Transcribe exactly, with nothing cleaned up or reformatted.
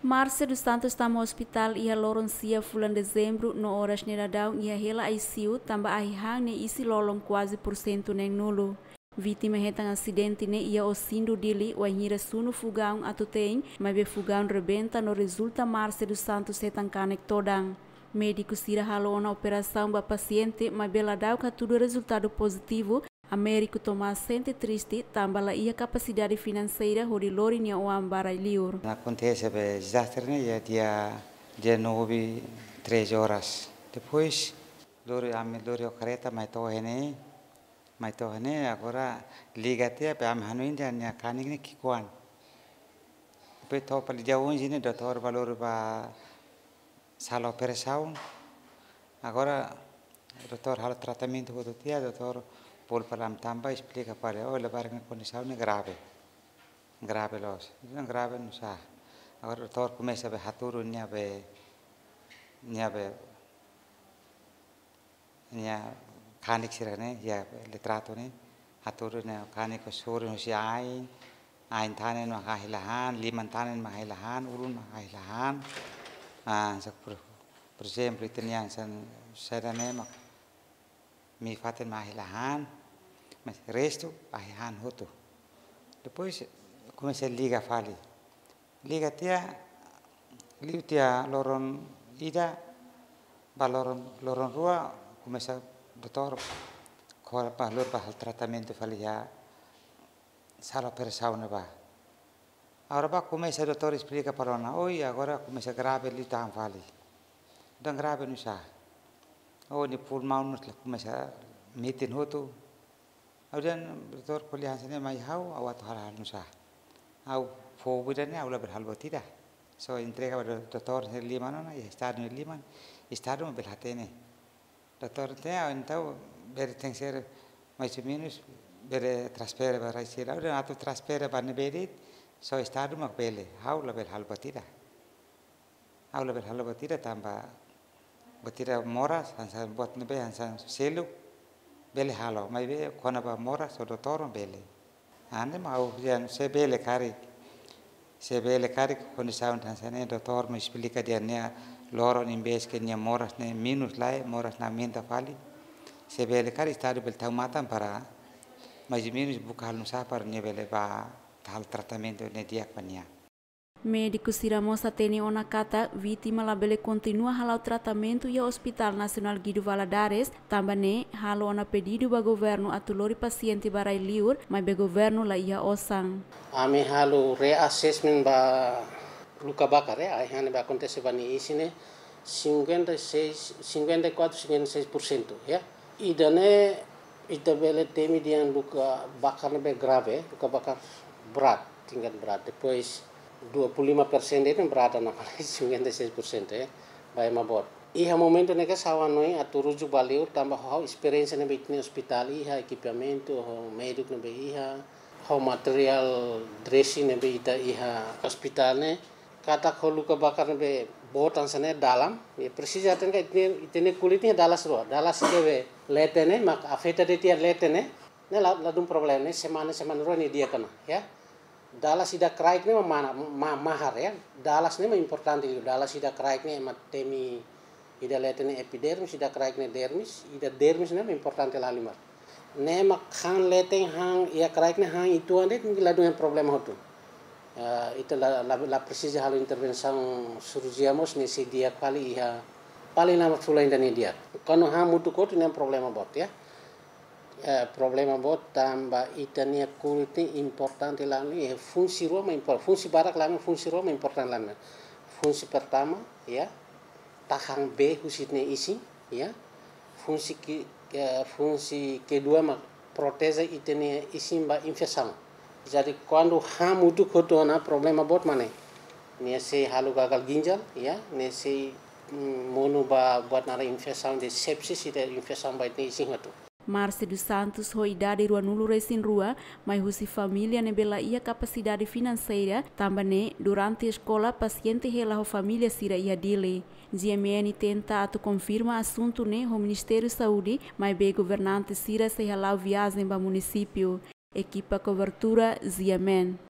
Marcia dos Santos tama ospitál iha loron sia fulan Dezembru no oras ne'e daudaun iha hela I C U tanba ahi-han ne'e isin-lolon kuaze pursentu neen-nulu. Vítima hetan asidente ne'e iha Osindu, Dili, wainhira sunu fogaun atu te'in, maibé fogaun rebenta no rezulta Marcia dos Santos hetan kanek todan. Médiku sira halo ona operasaun ba pasiente, maibé ladauk hatudu rezultadu pozitivu, Américo Tomás sente triste tanba la iha kapasidade finanseira hodi lori nia oan ba rai-liur. Akontese be dezastre ne'e iha dia, dia nove, treze horas. Depois, lori, ami lori ho kareta mai to'o iha ne'e, mai to'o iha ne'e, agora liga tiha, be ami hanoin dehan nia kanek ne'e ki'ikoan. Be to'o fali dia onze ne'e, doutór bá lori ba sala operasaun. Agora, doutór halo tratamentu hotu tiha, doutór bolu fali ami tanba, esplika fali, oh, labarik nia kondisaun ne'e grave. Grave loos. Entaun grave nusá? Agora doutór komesa be hatudu nia be, nia be, nia kanek sira ne'e, iha litrato ne'e, hatudu nia kanek sorin husi ain, ain tan ne'e mak ahi la han, liman tan ne'e mak ahi la han, ulun mak ahi la han. Ah, sa por, por ezemplu, ita-nia hanesan saida ne'e mak, mii-fatin mak ahi la han, mas restu ahi han hotu. Depois komesa liga fali. Liga tiha, liu tiha loron ida, ba loron, loron rua, komesa doutór kora bá lori ba halo tratamentu fali iha sala operasaun ne'ebá. Agora bá komesa doutór esplika fali ona, oi, agora komesa grave liután fali. Entaun grave nusá? Oh, nia pulmaun ne'e la komesa metin hotu. Ha'u dehan, doutór, ko'alia hanesan ne'e mai ha'u, ha'u atu halo nusá? Ha'u foun ida-ne'e, ha'u labele halo buat ida. Só entrega ba do-, doutór nia liman ona, iha estadu nia liman, estadu mak bele hatene. Doutór hatene, ah, entaun bele tenke ser mais ou menus, bele transfere ba rai sira. Ha'u dehan atu transfere ba ne'ebé de'it, só estadu mak bele, ha'u labele halo buat ida. Ha'u labele halo buat ida tanba buat ida moras, hanesan buat ne'ebé hanesan seluk bele halo, maibé kona-ba moras ho doutór bele. Ne'e mak ha'u dehan se bele karik, se bele karik kondisaun hanesan ne'e doutór mak esplika dehan nia loron imbés ke nia moras ne'e menus lai, moras ne'e aumenta fali. Se bele karik estadu bele tau matan para mais ou menus buka halo nusá para nia bele bá halo tratamentu ne'e di'ak ba nia. Médiku sira mós hatene ona katak vítima labele kontinua hala'o tratamentu iha Hospital Nasionál Guido Valadares, tanba ne'e halo ona pedidu ba governu atu lori pasiente ba rai-liur, maibé governu la iha osan. Ami halo reassessment ba luka bakar, ya, ahi-han ne'ebé akontese ba nia isin ne'e, cinquenta e seis, cinquenta e quatro, cinquenta e seis por cento, ya. Ida-ne'e ita bele temi dehan luka bakar ne'ebé grave, luka bakar berat, tingkat berat. Depois dua puluh lima persen de'it ne'e berat ona fali, cinquenta e seis por cento, ya, ba ema boot. Iha momentu ne'e ke ha'u hanoin atu rujuk ba liur tanba ho esperiénsia ne'ebé ita-nia ospitál iha, ekipamentu, ho médiku ne'ebé iha, ho materiál dressing ne'ebé ita iha ospitál ne'e, katak ho luka bakar ne'ebé boot hanesan ne'e dalam, ya, presiza hatene katak ita-nia, ita-nia kulit ne'e dalas rua, dalas ida be leten ne'e, mak afeta de'it iha leten ne'e, ne'e la, ladún problema ne'e, semana, semana rua nia di'ak ona, ya. Dalas ida kraik ne'e mak mana, ma-, mahar, ya. Dalas ne'e mak importante, dalas ida kraik ne'e ema temi ida leten ne'e epidermis, ida kraik ne'e dermis, ida dermis ne'e mak importante lahalimar. Ne'e mak han leten, han iha kraik ne'e, han uitoan de'it, ladún iha problema hotu. Eh, ita la, la, la presiza halo intervensaun sirurjia mós ne'e sei di'ak fali iha paling lama fulan ida ne'e di'ak. Kuandu hamutuk hotu ne'e problema boot, ya. Eh, problema boot tanba ita-nia kulit ne'e importante lahalimar, eh, fungsi rua mak impor-, fungsi barak lahalimar, fungsi rua mak importante lahalimar. Fungsi pertama, ya, tahan bee husi ita-nia isin, ya. Fungsi ke, eh, fungsi kedua mak proteje ita-nia isin ba infesaun. Jadi kuandu hamutuk hotu ona problema boot mak ne'e. Nia sei halo gagal ginjal, ya, nia sei, mm, monu ba buat naran infesaun de sepsis, ida infesaun ba ita-nia isin hotu. Marcia dos Santos ho idade ruanulu-resin-rua, mai husi família ne'ebé la iha kapasidade finanseira, tanba ne'e durante eskola pasiente hela ho família sira iha Dili. G M N tenta atu konfirma asuntu ne'e ho Ministériu Saúde, maibé governante sira sei hala'o viajen ba munisípiu. Ekipa kobertura G M N.